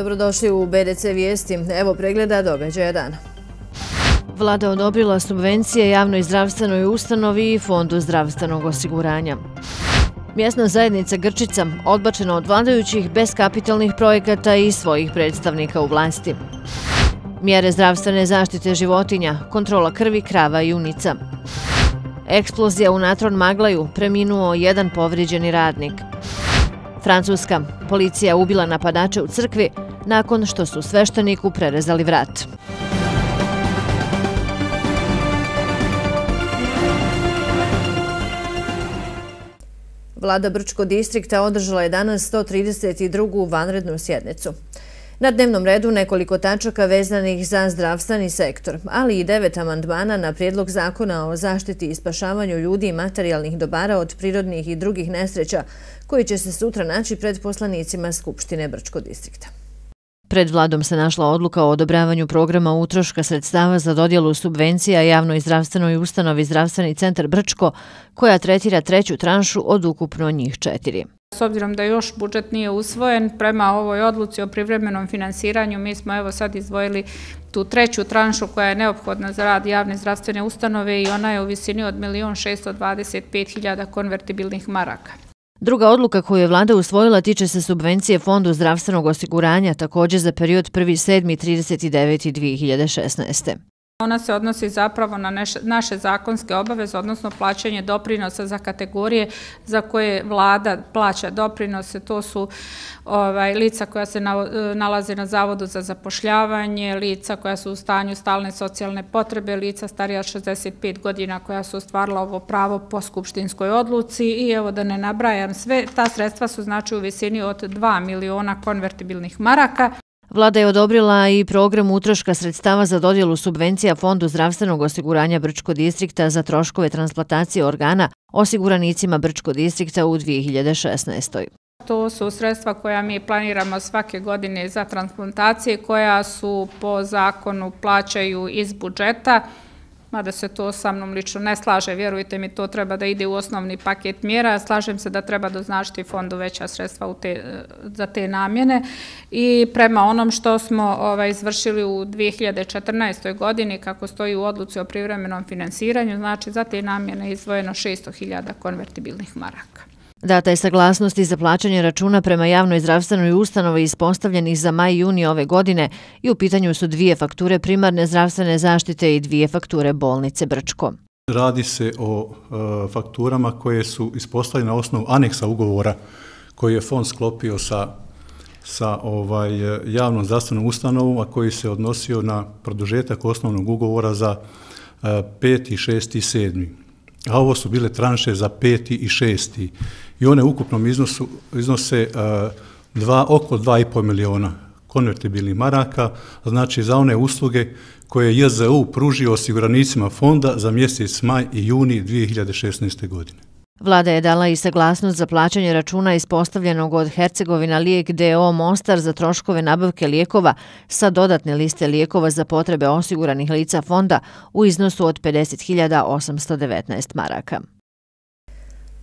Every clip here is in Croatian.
Dobrodošli u BDC Vijesti. Evo pregleda događaja dana. Vlada odobrila subvencije javnoj zdravstvenoj ustanovi i Fondu zdravstvenog osiguranja. Mjesna zajednica Grčica odbačena od vladajućih bez kapitalnih projekata i svojih predstavnika u vlasti. Mjere zdravstvene zaštite životinja, kontrola krvi, krava i junica. Eksplozija u Natron Maglaju, preminuo jedan povrijeđeni radnik. Francuska, policija ubila napadače u crkvi nakon što su svešteniku prerezali vrat. Vlada Brčko distrikta održala je danas 132. vanrednu sjednicu. Na dnevnom redu nekoliko tačaka vezanih za zdravstveni sektor, ali i 9 amandmana na prijedlog zakona o zaštiti i spašavanju ljudi i materijalnih dobara od prirodnih i drugih nesreća, koji će se sutra naći pred poslanicima Skupštine Brčko distrikta. Pred vladom se našla odluka o odobravanju programa utroška sredstava za dodjelu subvencija javnoj zdravstvenoj ustanovi Zdravstveni centar Brčko, koja tretira treću tranšu od ukupno njih 4. S obzirom da još budžet nije usvojen, prema ovoj odluci o privremenom finansiranju mi smo evo sad izdvojili tu treću tranšu koja je neophodna za rad javne zdravstvene ustanove i ona je u visini od 1.625.000 konvertibilnih maraka. Druga odluka koju je vlada usvojila tiče se subvencije Fondu zdravstvenog osiguranja, također za period 1.7.39.2016. Ona se odnosi zapravo na naše zakonske obaveze, odnosno plaćanje doprinosa za kategorije za koje vlada plaća doprinose. To su lica koja se nalaze na Zavodu za zapošljavanje, lica koja su u stanju stalne socijalne potrebe, lica starija od 65 godina koja su ostvarila ovo pravo po skupštinskoj odluci i evo da ne nabrajam sve, ta sredstva su znači u visini od 2 miliona konvertibilnih maraka. Vlada je odobrila i program utroška sredstava za dodjelu subvencija Fondu zdravstvenog osiguranja Brčko distrikta za troškove transplantacije organa osiguranicima Brčko distrikta u 2016. To su sredstva koja mi planiramo svake godine za transplantacije koja su po zakonu plaćaju iz budžeta. Mada se to sa mnom lično ne slaže, vjerujte mi, to treba da ide u osnovni paket mjera. Slažem se da treba doznačiti fondu veća sredstva za te namjene i prema onom što smo izvršili u 2014. godini, kako stoji u odluci o privremenom finansiranju, znači za te namjene je izdvojeno 600.000 konvertibilnih maraka. Data je saglasnost i za plaćanje računa prema javnoj zdravstvenoj ustanovi ispostavljenih za maj i juni ove godine i u pitanju su 2 fakture primarne zdravstvene zaštite i 2 fakture bolnice Brčko. Radi se o fakturama koje su ispostavljene na osnovu aneksa ugovora koji je fond sklopio sa javnom zdravstvenom ustanovom, a koji se odnosio na produžetak osnovnog ugovora za 5., 6. i 7. A ovo su bile tranše za 5. i 6. I one u ukupnom iznosu iznose oko 2,5 miliona konvertibilnih maraka, znači za one usluge koje je JZU pružio osiguranicima fonda za mjesec maj i juni 2016. godine. Vlada je dala i saglasnost za plaćanje računa ispostavljenog od Hercegovina Lijek d.o. Mostar za troškove nabavke lijekova sa dodatne liste lijekova za potrebe osiguranih lica fonda u iznosu od 50.819 maraka.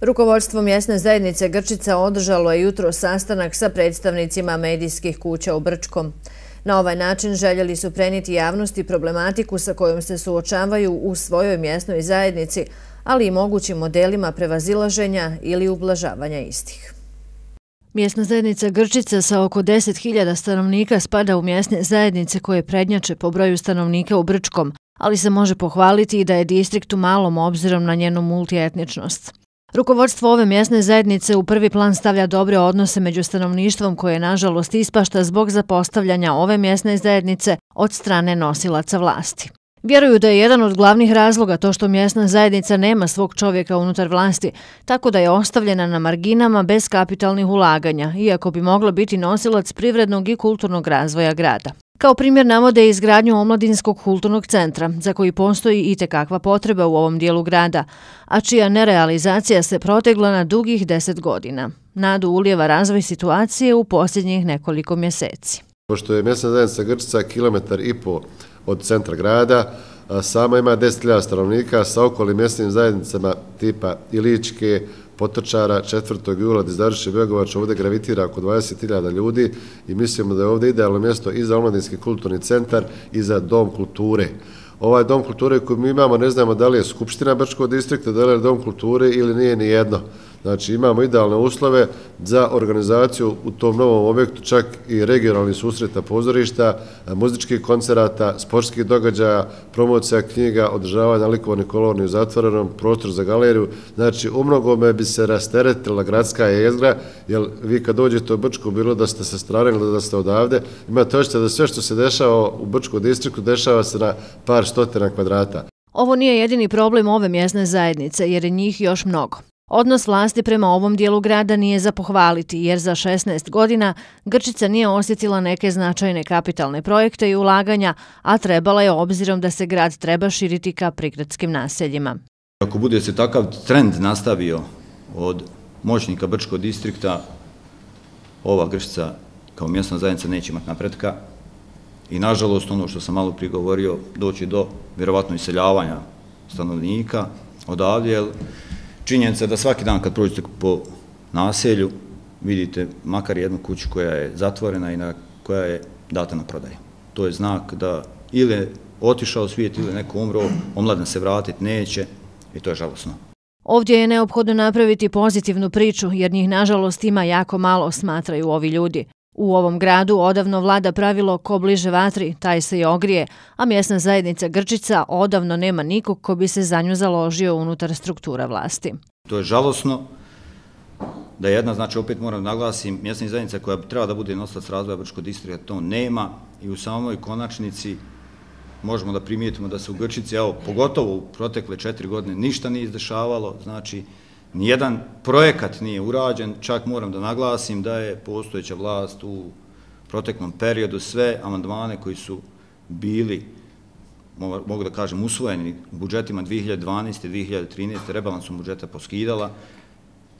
Rukovodstvo mjesne zajednice Grčica održalo je jutro sastanak sa predstavnicima medijskih kuća u Brčkom. Na ovaj način željeli su prenijeti javnosti problematiku sa kojom se suočavaju u svojoj mjesnoj zajednici, ali i mogućim modelima prevazilaženja ili ublažavanja istih. Mjesna zajednica Grčica sa oko 10.000 stanovnika spada u mjesne zajednice koje prednjače po broju stanovnika u Brčkom, ali se može pohvaliti i da je distrikt u malom obzirom na njenu multietničnost. Rukovodstvo ove mjesne zajednice u prvi plan stavlja dobre odnose među stanovništvom koje nažalost ispašta zbog zapostavljanja ove mjesne zajednice od strane nosilaca vlasti. Vjeruju da je jedan od glavnih razloga to što mjesna zajednica nema svog čovjeka unutar vlasti, tako da je ostavljena na marginama bez kapitalnih ulaganja, iako bi mogla biti nosilac privrednog i kulturnog razvoja grada. Kao primjer navode izgradnju omladinskog kulturnog centra, za koji postoji itekakva potreba u ovom dijelu grada, a čija nerealizacija se protegla na dugih 10 godina. Nadu ulijeva razvoj situacije u posljednjih nekoliko mjeseci. Pošto je mjesna zajednica Grčica 1,5 km od centra grada, sama ima 10.000 stanovnika sa okolnim mjesnim zajednicama tipa Iličke, Potočara, 4. jula iz Dariše Begovač ovdje gravitira oko 20.000 ljudi i mislimo da je ovdje idealno mjesto i za omladinski kulturni centar i za dom kulture. Ovaj dom kulture koji mi imamo, ne znamo da li je Skupština Brčkog distrikta, da li je dom kulture ili nije ni jedno. Znači imamo idealne uslove za organizaciju u tom novom objektu, čak i regionalnih susreta pozorišta, muzičkih koncerata, sportskih događaja, promocija knjiga, održavanja likovnih kolonija u zatvorenom, prostor za galeriju. Znači u mnogome bi se rasteretila gradska jezgra, jer vi kad dođete u Brčko, bilo da ste sa strane ili da ste odavde, imate osjećaj da sve što se dešava u Brčkom distriktu dešava se na par stotina kvadrata. Ovo nije jedini problem ove mjesne zajednice, jer je njih još mnogo. Odnos vlasti prema ovom dijelu grada nije za pohvaliti, jer za 16 godina Grčica nije osjetila neke značajne kapitalne projekte i ulaganja, a trebala je obzirom da se grad treba širiti ka prigradskim naseljima. Ako bude se takav trend nastavio od moćnika Brčkog distrikta, ova Grčica kao mjesna zajednica neće imati napretka i nažalost ono što sam malo prije govorio, doći do vjerovatno iseljavanja stanovnika odavdje, jer činjenica je da svaki dan kad prođete po naselju vidite makar jednu kuću koja je zatvorena i koja je data na prodaju. To je znak da ili je otišao svijet ili neko umro, omladina se vratiti neće i to je žalosno. Ovdje je neophodno napraviti pozitivnu priču, jer njih nažalost ima jako malo, smatraju ovi ljudi. U ovom gradu odavno vlada pravilo ko bliže vatri, taj se i ogrije, a mjesna zajednica Grčica odavno nema nikog ko bi se za nju založio unutar struktura vlasti. To je žalosno da jedna, znači opet moram naglasim, mjesna zajednica koja treba da bude nosilac razvoja Brčkog distrikta to nema i u samoj konačnici možemo da primijetimo da se u Grčici, evo, pogotovo u protekle 4 godine ništa nije izdešavalo, znači nijedan projekat nije urađen, čak moram da naglasim da je postojeća vlast u proteklom periodu sve amandmane koji su bili, mogu da kažem, usvojeni budžetima 2012. i 2013. rebalansom budžeta poskidala,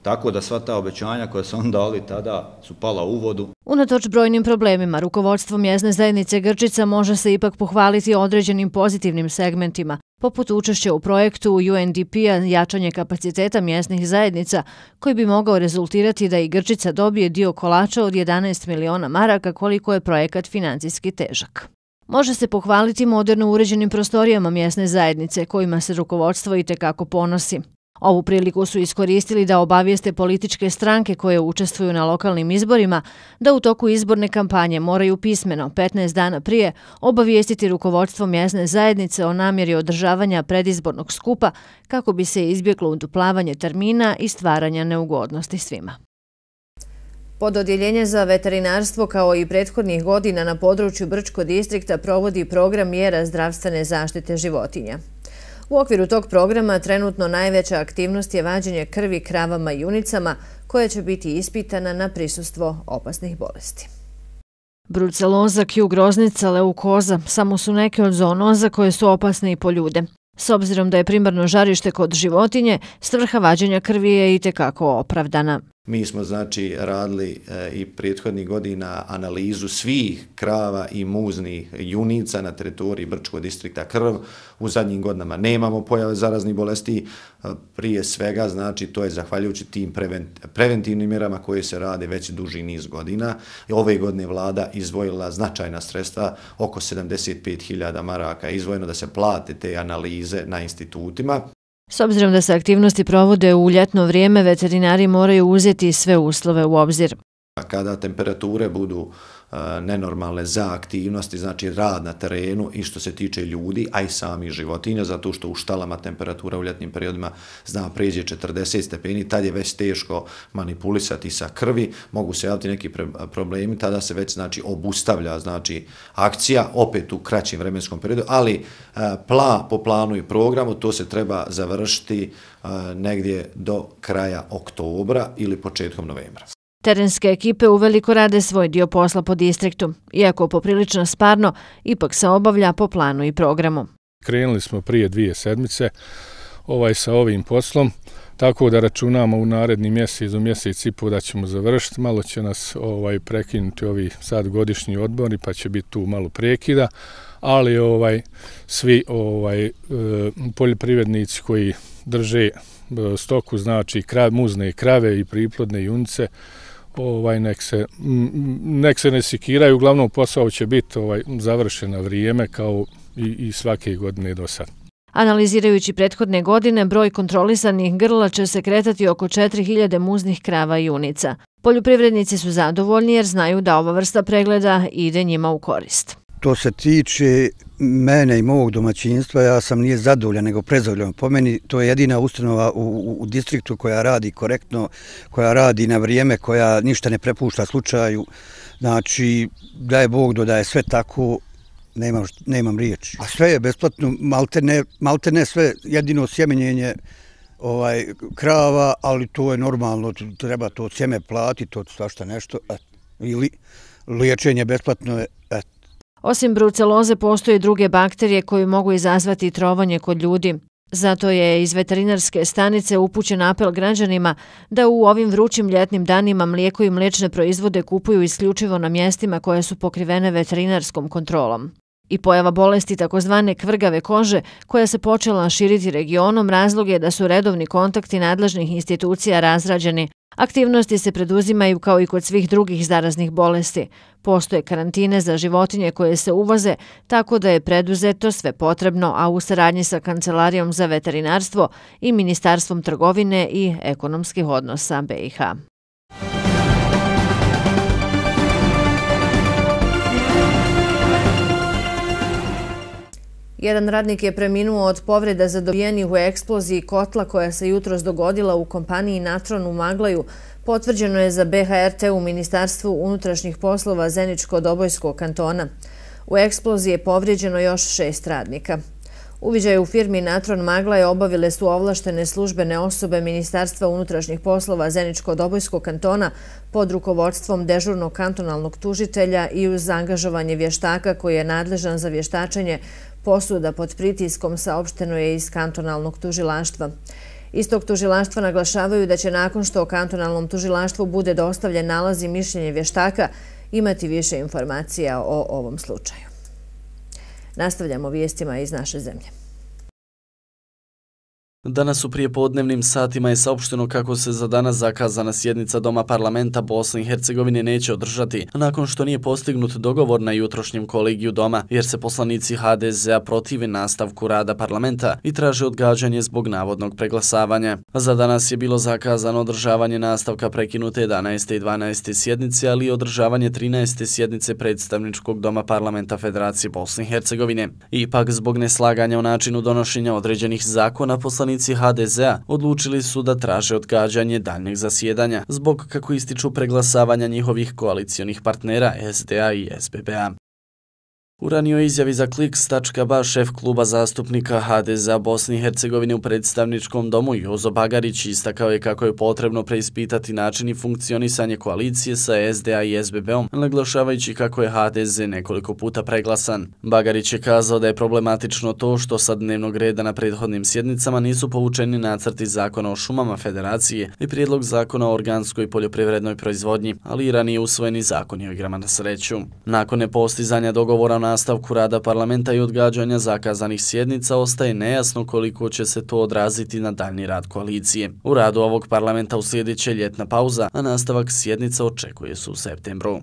tako da sva ta obećanja koja su on dali tada su pala u vodu. Unatoč brojnim problemima, rukovodstvo mjesne zajednice Grčica može se ipak pohvaliti određenim pozitivnim segmentima, poput učešća u projektu UNDP-a jačanje kapaciteta mjesnih zajednica, koji bi mogao rezultirati da i Grčica dobije dio kolača od 11 miliona maraka koliko je projekat financijski težak. Može se pohvaliti moderno uređenim prostorijama mjesne zajednice, kojima se rukovodstvo itekako ponosi. Ovu priliku su iskoristili da obavijeste političke stranke koje učestvuju na lokalnim izborima da u toku izborne kampanje moraju pismeno 15 dana prije obavijestiti rukovodstvo mjesne zajednice o namjeri održavanja predizbornog skupa kako bi se izbjeglo uduplavanje termina i stvaranja neugodnosti svima. Pododjeljenje za veterinarstvo kao i prethodnih godina na području Brčkog distrikta provodi program mjera zdravstvene zaštite životinja. U okviru tog programa trenutno najveća aktivnost je vađenje krvi kravama i junicama koja će biti ispitana na prisustvo opasnih bolesti. Bruceloza, Q groznica, leukoza samo su neke od zoonoza koje su opasne i po ljude. S obzirom da je primarno žarište kod životinje, svrha vađenja krvi je itekako opravdana. Mi smo znači radili i prethodnih godina analizu svih krava i muznih junica na teritoriji Brčkog distrikta krv. U zadnjim godinama nemamo pojave zaraznih bolesti. Prije svega, znači, to je zahvaljujući tim preventivnim mjerama koje se rade već duži niz godina. Ove godine vlada izdvojila značajna sredstva, oko 75.000 maraka izdvojeno da se plate te analize na institutima. S obzirom da se aktivnosti provode u ljetno vrijeme, veterinari moraju uzeti sve uslove u obzir. Kada temperature budu nenormalne za aktivnosti, znači rad na terenu i što se tiče ljudi, a i samih životinja, zato što u štalama temperatura u ljetnim periodima zna pređe 40 stepeni, tad je već teško manipulisati sa krvi, mogu se javiti neki problemi, tada se već znači obustavlja znači akcija, opet u kraćim vremenskom periodu, ali po planu i programu to se treba završiti negdje do kraja oktobra ili početkom novembra. Terenske ekipe uveliko rade svoj dio posla po distriktu, iako poprilično sparno, ipak se obavlja po planu i programu. Krenuli smo prije 2 sedmice sa ovim poslom, tako da računamo u naredni mjesec do mjesec i pol da ćemo završiti. Malo će nas prekinuti ovi sad godišnji odbori, pa će biti tu malo prekida, ali svi poljoprivrednici koji drže stoku, znači muzne krave i priplodne junice, nek se ne sikiraju, uglavnom posao će biti završen na vrijeme kao i svake godine do sad. Analizirajući prethodne godine, broj kontrolisanih grla će se kretati oko 4000 muznih krava i junica. Poljoprivrednici su zadovoljni jer znaju da ova vrsta pregleda ide njima u korist. To se tiče mene i mog domaćinstva, ja sam nije zadovoljan nego prezadovoljan. Po meni to je jedina ustanova u distriktu koja radi korektno, koja radi na vrijeme, koja ništa ne prepušta slučaju. Znači, da je Bog da je sve tako, nemam riječi. A sve je besplatno, malte ne sve, jedino sjemenjenje krava, ali to je normalno, treba to sjeme platiti, to svašta nešto, ili liječenje besplatno je, Osim bruceloze postoje i druge bakterije koje mogu izazvati trovanje kod ljudi. Zato je iz veterinarske stanice upućen apel građanima da u ovim vrućim ljetnim danima mlijeko i mliječne proizvode kupuju isključivo na mjestima koje su pokrivene veterinarskom kontrolom. I pojava bolesti takozvane kvrgave kože, koja se počela širiti regionom, razlog je da su redovni kontakti nadležnih institucija razrađeni. Aktivnosti se preduzimaju kao i kod svih drugih zaraznih bolesti. Postoje karantine za životinje koje se uvoze, tako da je preduzeto sve potrebno, a u saradnji sa Kancelarijom za veterinarstvo i Ministarstvom trgovine i ekonomskih odnosa BiH. Jedan radnik je preminuo od povreda zadobijenih u eksploziji kotla koja se jutros dogodila u kompaniji Natron u Maglaju. Potvrđeno je za BHRT u Ministarstvu unutrašnjih poslova Zeničko-Dobojskog kantona. U eksploziji je povrijeđeno još 6 radnika. Uviđaj u firmi Natron Maglaje obavile su ovlaštene službene osobe Ministarstva unutrašnjih poslova Zeničko-Dobojskog kantona pod rukovodstvom dežurnog kantonalnog tužitelja i uz angažovanje vještaka koji je nadležan za vještačenje posuda pod pritiskom, saopšteno je iz kantonalnog tužilaštva. Iz tog tužilaštva naglašavaju da će nakon što kantonalnom tužilaštvu bude dostavljen nalaz i mišljenje vještaka imati više informacija o ovom slučaju. Nastavljamo vijestima iz naše zemlje. Danas u prijepodnevnim satima je saopšteno kako se za danas zakazana sjednica Doma parlamenta Bosne i Hercegovine neće održati, nakon što nije postignut dogovor na jutrošnjem kolegiju Doma, jer se poslanici HDZ-a protive nastavku rada parlamenta i traže odgađanje zbog navodnog preglasavanja. Za danas je bilo zakazano održavanje nastavka prekinute 11. i 12. sjednice, ali i održavanje 13. sjednice predstavničkog Doma parlamenta Federacije Bosne i Hercegovine. Ipak, zbog neslaganja o načinu donošenja određenih zakona, poslanici HDZ-a odlučili su da traže odgađanje daljnjeg zasjedanja zbog, kako ističu, preglasavanja njihovih koalicionih partnera SDA i SBB-a. U ranijoj izjavi za Kliks.ba šef kluba zastupnika HDZ-a Bosne i Hercegovine u predstavničkom domu Jozo Bagarić istakao je kako je potrebno preispitati način i funkcionisanje koalicije sa SDA i SBB-om, naglašavajući kako je HDZ nekoliko puta preglasan. Bagarić je kazao da je problematično to što sa dnevnog reda na prethodnim sjednicama nisu povučeni nacrti zakona o šumama Federacije i prijedlog zakona o organskoj poljoprivrednoj proizvodnji, ali i ranije usvojeni zakoni o igrama na sreću. Nakon nepostizanja dogovora o nastavku rada parlamenta i odgađanja zakazanih sjednica ostaje nejasno koliko će se to odraziti na daljni rad koalicije. U radu ovog parlamenta uslijedit će ljetna pauza, a nastavak sjednica očekuje se u septembru.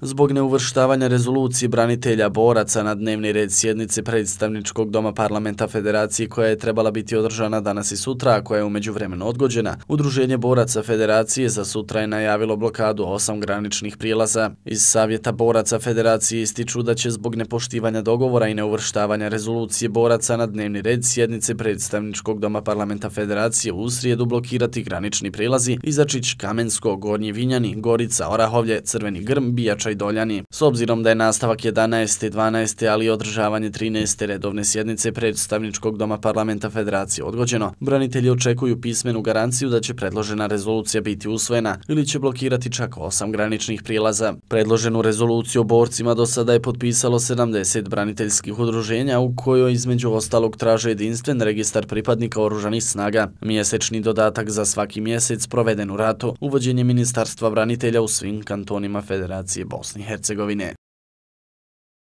Zbog neuvrštavanja rezolucije branitelja boraca na dnevni red sjednice predstavničkog Doma parlamenta Federacije koja je trebala biti održana danas i sutra, a koja je u međuvremenu odgođena, Udruženje boraca Federacije za sutra je najavilo blokadu 8 graničnih prijelaza. Iz Savjeta boraca Federacije ističu da će zbog nepoštivanja dogovora i neuvrštavanja rezolucije boraca na dnevni red sjednice predstavničkog Doma parlamenta Federacije u srijedu blokirati granični prijelazi Izačić, Kamensko, Gornji Vinjani, Gorica, Orahovlje, Crveni Grm, Bijača i Doljani. S obzirom da je nastavak 11. i 12. ali i održavanje 13. redovne sjednice predstavničkog Doma parlamenta Federacije odgođeno, branitelji očekuju pismenu garanciju da će predložena rezolucija biti usvojena ili će blokirati čak 8 graničnih prijelaza. Predloženu rezoluciju o borcima do sada je potpisalo 70 braniteljskih udruženja u kojoj između ostalog traže jedinstven registar pripadnika oružanih snaga, mjesečni dodatak za svaki mjesec proveden u ratu, uvođenje Ministarstva branitelja u svim kantonima Federacije Bosne i Hercegovine.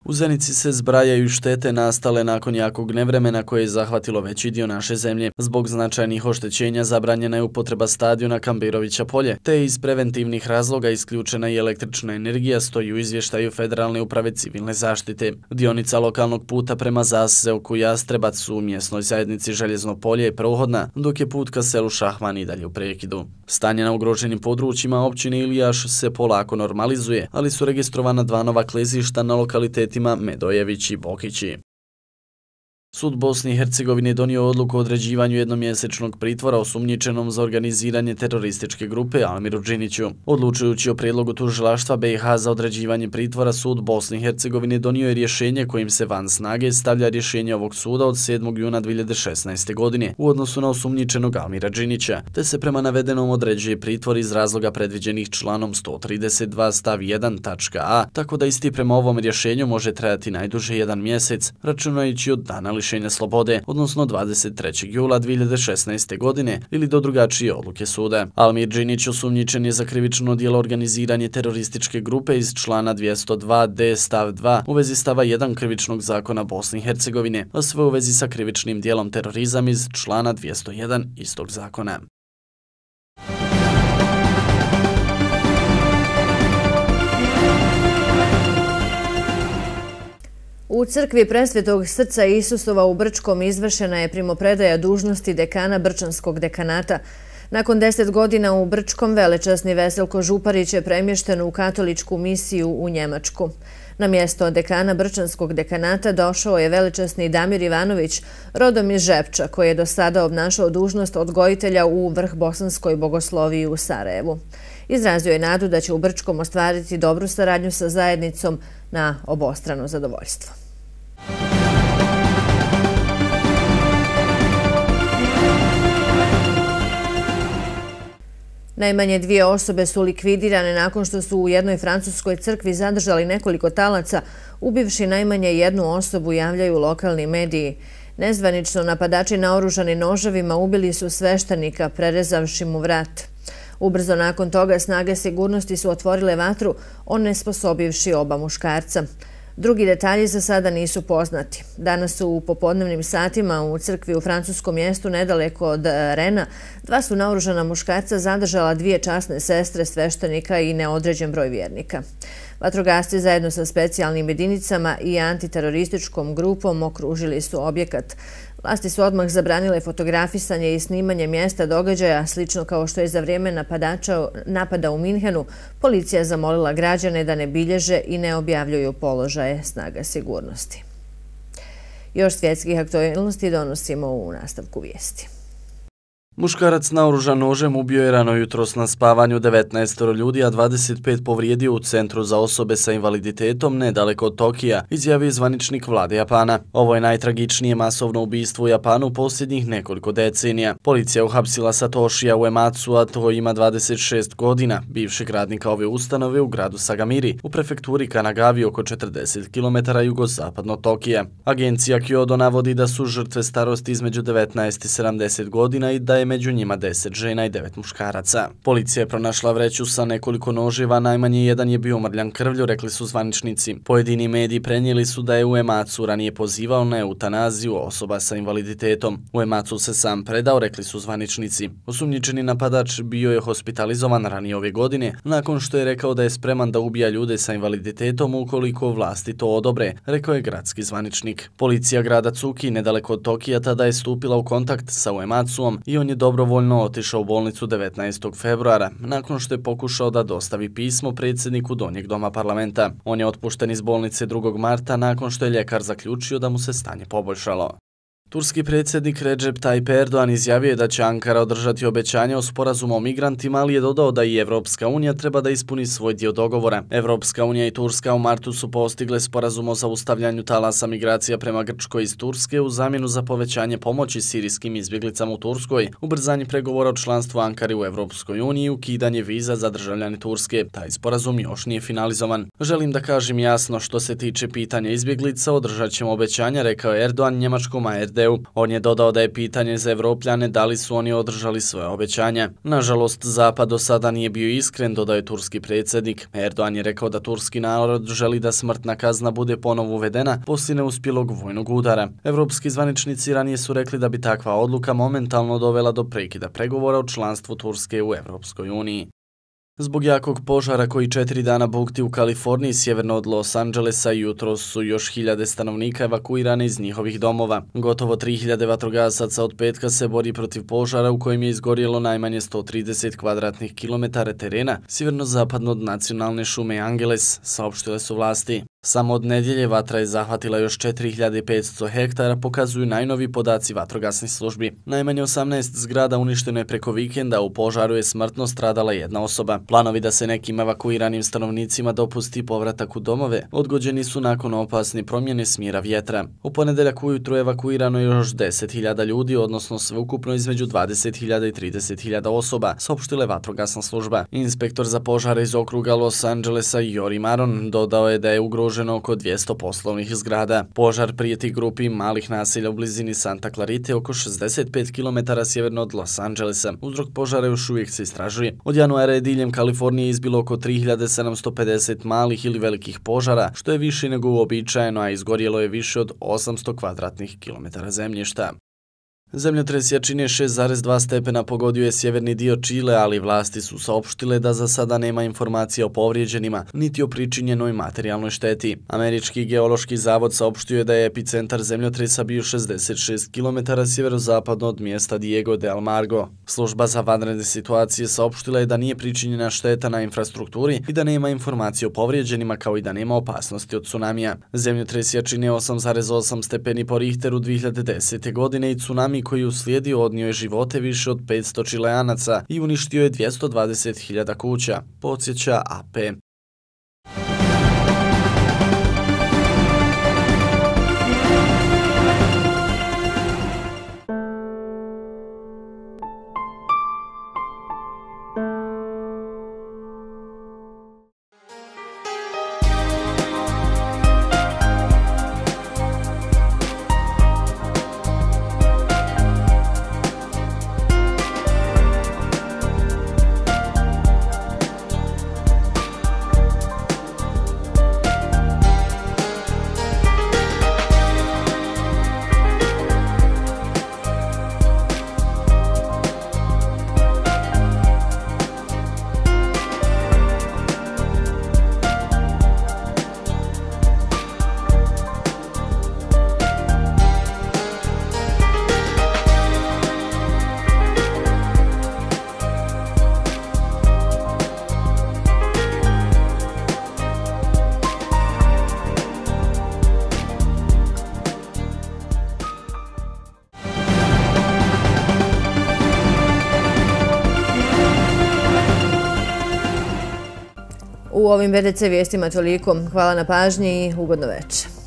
U Zenici se zbrajaju štete nastale nakon jakog nevremena koje je zahvatilo veći dio naše zemlje. Zbog značajnih oštećenja zabranjena je upotreba stadiona Kamberovića polje, te iz preventivnih razloga isključena i električna energija, stoji u izvještaju Federalne uprave civilne zaštite. Dionica lokalnog puta prema zaseoku Jastrebac u mjesnoj zajednici Željezno polje je prohodna, dok je put ka selu Šahman i dalje u prekidu. Stanje na ugroženim područjima općine Ilijaš se polako normalizuje, ali su registrovana 2 nova klizišta na lokalitetima Medojević i Bokići. Sud Bosne i Hercegovine donio odluku o određivanju jednomjesečnog pritvora osumnjičenom za organiziranje terorističke grupe Almiru Džiniću. Odlučujući o prijedlogu tužilaštva BiH za određivanje pritvora, Sud Bosne i Hercegovine donio je rješenje kojim se van snage stavlja rješenje ovog suda od 7. juna 2016. godine u odnosu na osumnjičenog Almira Džinića, te se prema navedenom određuje pritvor iz razloga predviđenih članom 132 stav 1 tačka a, tako da isti prema ovom rješenju može trajati najduže 1 mjesec, računajući od dana lišenja slobode, odnosno 23. jula 2016. godine ili do drugačije odluke suda. Almir Džinić osumnjičen je za krivično djelo organiziranje terorističke grupe iz člana 202d stav 2 u vezi stava 1 krivičnog zakona Bosne i Hercegovine, a sve u vezi sa krivičnim djelom terorizam iz člana 201 istog zakona. U crkvi Presvetog srca Isusova u Brčkom izvršena je primopredaja dužnosti dekana Brčanskog dekanata. Nakon 10 godina u Brčkom velečasni Veselko Župarić je premješten u katoličku misiju u Njemačku. Na mjesto dekana Brčanskog dekanata došao je velečasni Damir Ivanović, rodom iz Žepča, koji je do sada obnašao dužnost odgojitelja u Vrhbosanskoj bogosloviji u Sarajevu. Izrazio je nadu da će u Brčkom ostvariti dobru saradnju sa zajednicom na obostrano zadovoljstvo. Najmanje 2 osobe su likvidirane nakon što su u jednoj francuskoj crkvi zadržali nekoliko talaca, ubivši najmanje 1 osobu, javljaju lokalni mediji. Nezvanično napadači naoružani noževima ubili su sveštenika, prerezavši mu vrat. Ubrzo nakon toga snage sigurnosti su otvorile vatru, onesposobivši oba muškarca. Drugi detalji za sada nisu poznati. Danas su u popodnevnim satima u crkvi u francuskom mjestu nedaleko od Rena 2 su naoružana muškarca zadržala 2 časne sestre sveštenika i neodređen broj vjernika. Vatrogasci zajedno sa specijalnim jedinicama i antiterorističkom grupom okružili su objekat. Vlasti su odmah zabranile fotografisanje i snimanje mjesta događaja, slično kao što je za vrijeme napada u Minhenu policija zamolila građane da ne bilježe i ne objavljuju položaje snaga sigurnosti. Još svjetskih aktualnosti donosimo u nastavku vijesti. Muškarac naoružan nožem ubio je rano jutros na spavanju 19 ljudi, a 25 povrijedio u Centru za osobe sa invaliditetom nedaleko od Tokija, izjavio je zvaničnik vlade Japana. Ovo je najtragičnije masovno ubistvo u Japanu posljednjih nekoliko decenija. Policija uhapsila Satoshija Uematsu, a to ima 26 godina, bivšeg radnika ove ustanove u gradu Sagamiri, u prefekturi Kanagavi oko 40 km jugozapadno Tokija. Agencija Kyodo navodi da su žrtve starosti između 19 i 70 godina i da je među njima 10 žena i 9 muškaraca. Policija je pronašla vreću sa nekoliko noževa, najmanje jedan je bio umrljan krvlju, rekli su zvaničnici. Pojedini mediji prenijeli su da je Uematsu ranije pozivao na eutanaziju osoba sa invaliditetom. Uematsu se sam predao, rekli su zvaničnici. Osumnjičeni napadač bio je hospitalizovan ranije ove godine, nakon što je rekao da je spreman da ubija ljude sa invaliditetom ukoliko vlasti to odobre, rekao je gradski zvaničnik. Policija grada Cuki, nedaleko od Tokija, tada je stupila u kontakt sa Uematsuom i on je dobrovoljno otišao u bolnicu 19. februara, nakon što je pokušao da dostavi pismo predsjedniku Donjeg doma parlamenta. On je otpušten iz bolnice 2. marta nakon što je ljekar zaključio da mu se stanje poboljšalo. Turski predsjednik Recep Tayyip Erdogan izjavio je da će Ankara održati obećanje o sporazumu o migrantima, ali je dodao da i Evropska unija treba da ispuni svoj dio dogovora. Evropska unija i Turska u martu su postigle sporazum o zaustavljanju talasa migracija prema Grčkoj iz Turske u zamjenu za povećanje pomoći sirijskim izbjeglicama u Turskoj, ubrzanje pregovora o članstvu Ankare u Evropskoj uniji i ukidanje viza za državljane Turske. Taj sporazum još nije finalizovan. Želim da kažem jasno, što se tiče pitanja izbjeglica, održat ćemo obećanja, rekao je Erdogan njemačkom ARD. SAD-u. On je dodao da je pitanje za Evropljane da li su oni održali svoje obećanja. Nažalost, Zapad do sada nije bio iskren, dodao je turski predsjednik. Erdogan je rekao da turski narod želi da smrtna kazna bude ponovo uvedena poslije neuspjelog vojnog udara. Evropski zvaničnici ranije su rekli da bi takva odluka momentalno dovela do prekida pregovora o članstvu Turske u Evropskoj uniji. Zbog jakog požara koji 4 dana bukti u Kaliforniji sjeverno od Los Angelesa, jutros su još hiljade stanovnika evakuirane iz njihovih domova. Gotovo 3000 vatrogasaca od petka se bori protiv požara u kojem je izgorjelo najmanje 130 kvadratnih kilometara terena sjeverno-zapadno od nacionalne šume Angeles, saopštile su vlasti. Samo od nedjelje vatra je zahvatila još 4500 hektara, pokazuju najnovi podaci vatrogasnih službi. Najmanje 18 zgrada uništeno je preko vikenda, u požaru je smrtno stradala jedna osoba. Planovi da se nekim evakuiranim stanovnicima dopusti povratak u domove odgođeni su nakon opasne promjene smjera vjetra. U ponedeljak ujutro evakuirano je još 10.000 ljudi, odnosno sveukupno između 20.000 i 30.000 osoba, saopštila je vatrogasna služba. Inspektor za požare iz okruga Los Angelesa Jori Maron dodao je da je ugroženo oko 200 poslovnih zgrada. Požar prijeti grupi malih naselja u blizini Santa Clarite oko 65 km sjeverno od Los Angelesa. Uzrok požara još uvijek se istražuje. Od januara je diljem Kalifornije izbilo oko 3750 malih ili velikih požara, što je više nego uobičajeno, a izgorjelo je više od 800 kvadratnih kilometara zemljišta. Zemljotres jačine 6,2 stepena pogodio je sjeverni dio Čile, ali vlasti su saopštile da za sada nema informacija o povrijeđenima, niti o pričinjenoj materijalnoj šteti. Američki geološki zavod saopštio je da je epicentar zemljotresa bio 66 km sjeverozapadno od mjesta Diego de Almagro. Služba za vanredne situacije saopštila je da nije pričinjena šteta na infrastrukturi i da nema informacije o povrijeđenima, kao i da nema opasnosti od tsunamija. Zemljotres jačine 8,8 stepeni po Richteru 2010. godine i tsunami koji uslijedio odnio je živote više od 500 Čileanaca i uništio je 220.000 kuća, podsjeća AP. U ovim BDC vijestima toliko. Hvala na pažnji i ugodno večer.